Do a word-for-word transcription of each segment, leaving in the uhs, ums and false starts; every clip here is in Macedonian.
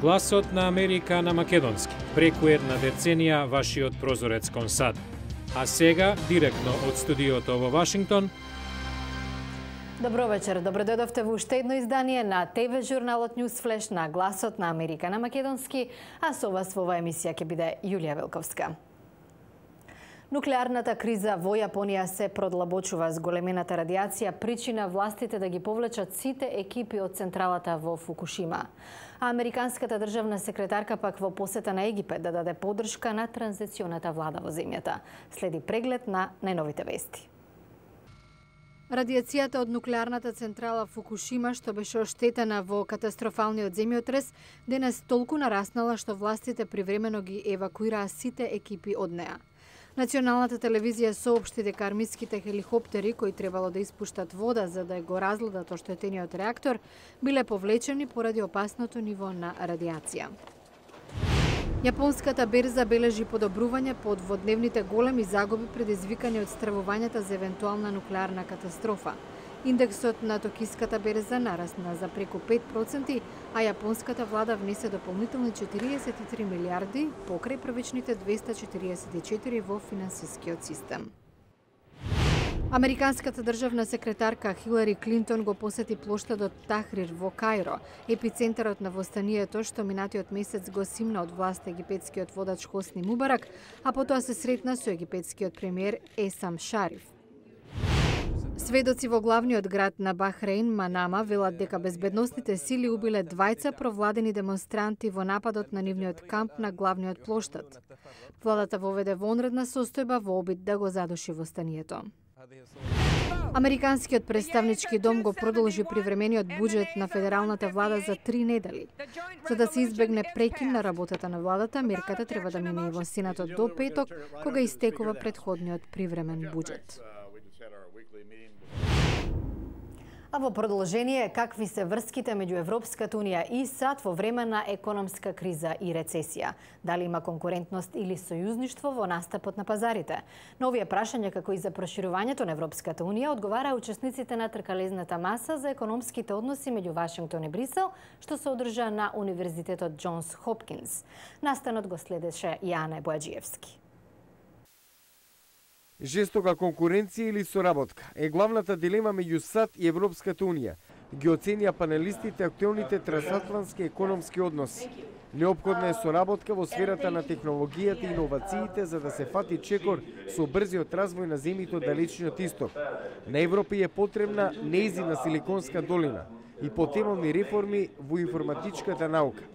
Гласот на Америка на македонски. Преку една деценија вашиот прозорец кон САД. А сега, директно од студиото во Вашингтон. Добро вечер, добро дојдовте во уште едно издание на ТВ журналот News Flash на Гласот на Америка на македонски, а со вас во оваа емисија ќе биде Јулија Велковска. Нуклеарната криза во Јапонија се продлабочува. С големената радиација причина властите да ги повлечат сите екипи од централата во Фукушима. А американската државна секретарка пак во посета на Египет да даде поддршка на транзиционата влада во земјата. Следи преглед на најновите вести. Радиацијата од нуклеарната централа Фукушима, што беше оштетена во катастрофалниот земјотрес, денес толку нараснала што властите привремено ги евакуираа сите екипи од неа. Националната телевизија соопшти дека армиските хеликоптери кои требало да испуштат вода за да го разгледат оштетениот реактор биле повлечени поради опасното ниво на радиација. Јапонската берза бележи подобрување по дводневните големи загуби предизвикани од стравувањата за евентуална нуклеарна катастрофа. Индексот на токиската берза нарасна за преку пет проценти, а јапонската влада внесе дополнителни четириесет и три милиарди покрај првичните двеста четириесет и четири во финансискиот систем. Американската државна секретарка Хилари Клинтон го посети плоштадот Тахрир во Кајро, епицентарот на востанието што минатиот месец го симна од власт египетскиот водач Хосни Мубарак, а потоа се сретна со египетскиот премиер Есам Шариф. Сведоци во главниот град на Бахрейн, Манама, велат дека безбедносните сили убиле двајца провладени демонстранти во нападот на нивниот камп на главниот плоштад. Владата воведе вонредна состојба во обид да го задуши востанието. Американскиот представнички дом го продолжи привремениот буџет на федералната влада за три недели. За да се избегне прекин на работата на владата, мерката треба да мине и во Сенатот до петок, кога истекува претходниот привремен буџет. А во продолжение, какви се врските меѓу Европската унија и САД во време на економска криза и рецесија? Дали има конкурентност или сојузништво во настапот на пазарите? На овие прашања, како и за проширувањето на Европската унија, одговараа учесниците на тркалезната маса за економските односи меѓу Вашингтон и Брисел, што се одржа на Универзитетот Џонс Хопкинс. Настанот го следеше Јане Бојаджиевски. Жестока конкуренција или соработка е главната дилема меѓу САД и Европската унија. Ги оценија панелистите актуелните трансатлантски економски односи. Неопходна е соработка во сферата на технологијата и иновациите за да се фати чекор со брзиот развој на земјите од далечниот исток. На Европа е потребна нејзина Силиконска долина и потемални реформи во информатичката наука.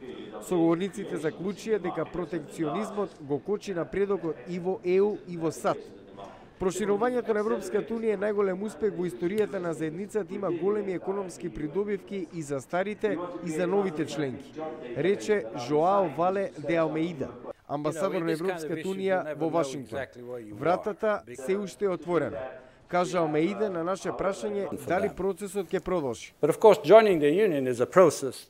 Соговорниците заклучија дека протекционизмот го кочи напредокот и во Е У и во САД. Проширувањето на Европската унија е најголем успех во историјата на заедницата, има големи економски придобивки и за старите и за новите членки, рече Жоао Вале де Алмеида, амбасадор на Европската унија во Вашингтон. Вратата се уште е отворена. Кажа Алмеида на наше прашање дали процесот ќе продолжи.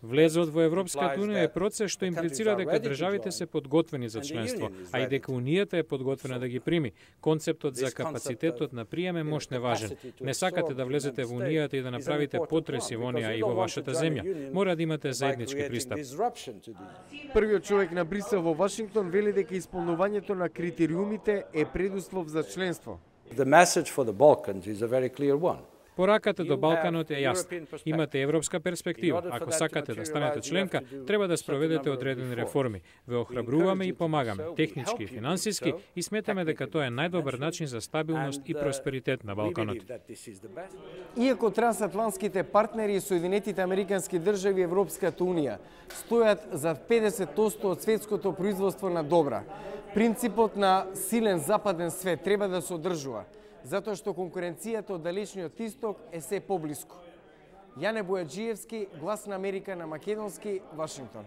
Влезот во Европската унија е процес што имплицира дека државите се подготвени за членство, а и дека унијата е подготвена да ги прими. Концептот за капацитетот на прием е мощне важен. Не сакате да влезете во унијата и да направите потреси во неа и во вашата земја. Мора да имате заеднички пристап. Првиот човек на Брисел во Вашингтон вели дека исполнувањето на критериумите е предуслов за членство. The message for the Balkans is a very clear one. Пораката до Балканот е јасна. Имате европска перспектива. Ако сакате да станете членка, треба да спроведете одредени реформи. Ве охрабруваме и помагаме, технички и финансиски, и сметаме дека тоа е најдобар начин за стабилност и просперитет на Балканот. Иако трансатлантските партнери и Соединетите американски држави и Европската унија стојат за педесет одсто од светското производство на добра, принципот на силен западен свет треба да се одржува, затоа што конкуренцијата од далечниот исток е се поблиску. Јане Бојаджиевски, Глас на Америка на македонски, Вашингтон.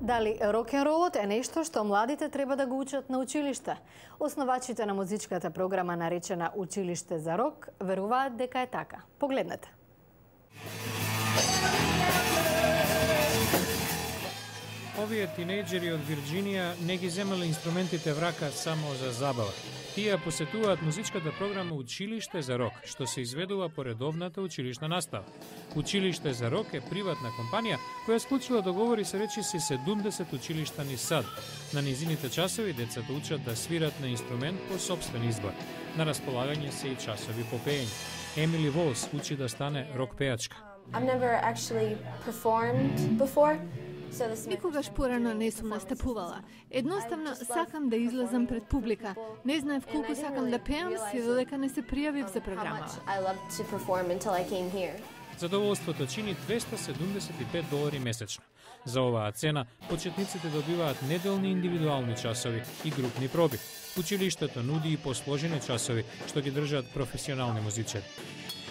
Дали рок-н-ролот е нешто што младите треба да го учат на училиште? Основачите на музичката програма наречена Училиште за рок веруваат дека е така. Погледнете. Овие тинејџери од Вирџинија не ги земале инструментите в рака само за забава. Тие посетуваат музичката програма Училиште за рок, што се изведува по редовната училишна настава. Училиште за рок е приватна компанија која склучила договори со речиси седумдесет училишта низ САД. На низините часови децата учат да свират на инструмент по сопствен избор. На располагање се и часови по пеење. Емили Волс учи да стане рок пејачка. I've never actually performed before. Никогаш порано не сум настапувала. Едноставно сакам да излезам пред публика. Не знаев колку сакам да пеам, се додека не се пријавив за програмава. Задоволството чини двеста седумдесет и пет долари месечно. За оваа цена, почетниците добиваат неделни индивидуални часови и групни проби. Училиштето нуди и посложени часови, што ги држат професионални музичари.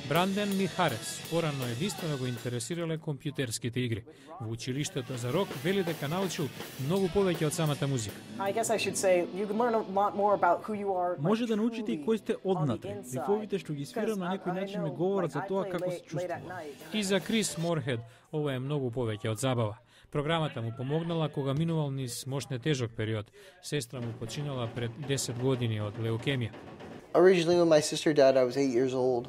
Бранден Михарес порано единствено го интересирале компјутерските игри. Во училиштето за рок вели дека научил многу повеќе од самата музика. Може да научите и кој сте однатре. Рифовите што ги свирам на некој начин ми говорат за тоа како се чувствувам. И за Крис Морхед ова е многу повеќе од забава. Програмата му помогнала кога минувал низ мошне тежок период. Сестра му починала пред десет години од леукемија. Originally when my sister died I was eight years old.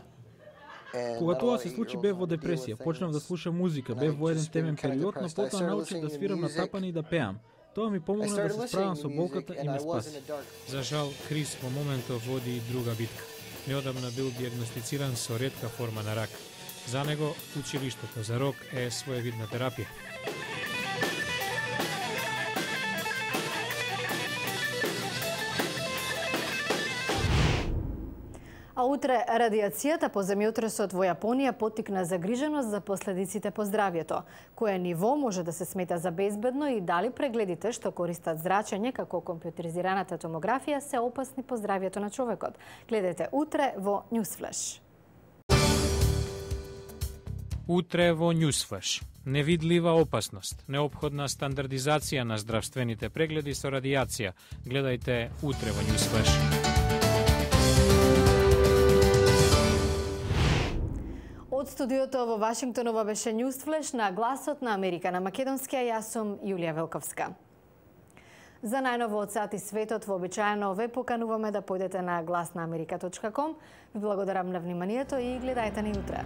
Кога тоа се случи бев во депресија, почнав да слушам музика, бев во еден темен период, но потоа научив да свирам на тапани и да пеам. Тоа ми помогна да се справам со болката и ме спаси. За жал, Крис во моментов води и друга битка. Неодамна бил диагностициран со ретка форма на рак. За него, училиштето за рок е своевидна терапија. А утре радиацијата по земјотресот во Јапонија поттикна загриженост за последиците по здравјето. Кое ниво може да се смета за безбедно и дали прегледите што користат зрачење како компјутеризираната томографија се опасни по здравјето на човекот. Гледайте утре во Newsflash. Утре во Newsflash. Невидлива опасност. Неопходна стандардизација на здравствените прегледи со радиација. Гледајте утре во Newsflash. Од студиото во Вашингтон ова беше Newsflash на Гласот на Америка на македонски, а јас сум Јулија Велковска. За најново од сат и светот вообичаено ве покануваме да појдете на глас на америка точка ком. Ви благодарам на вниманието и гледајте ни утре.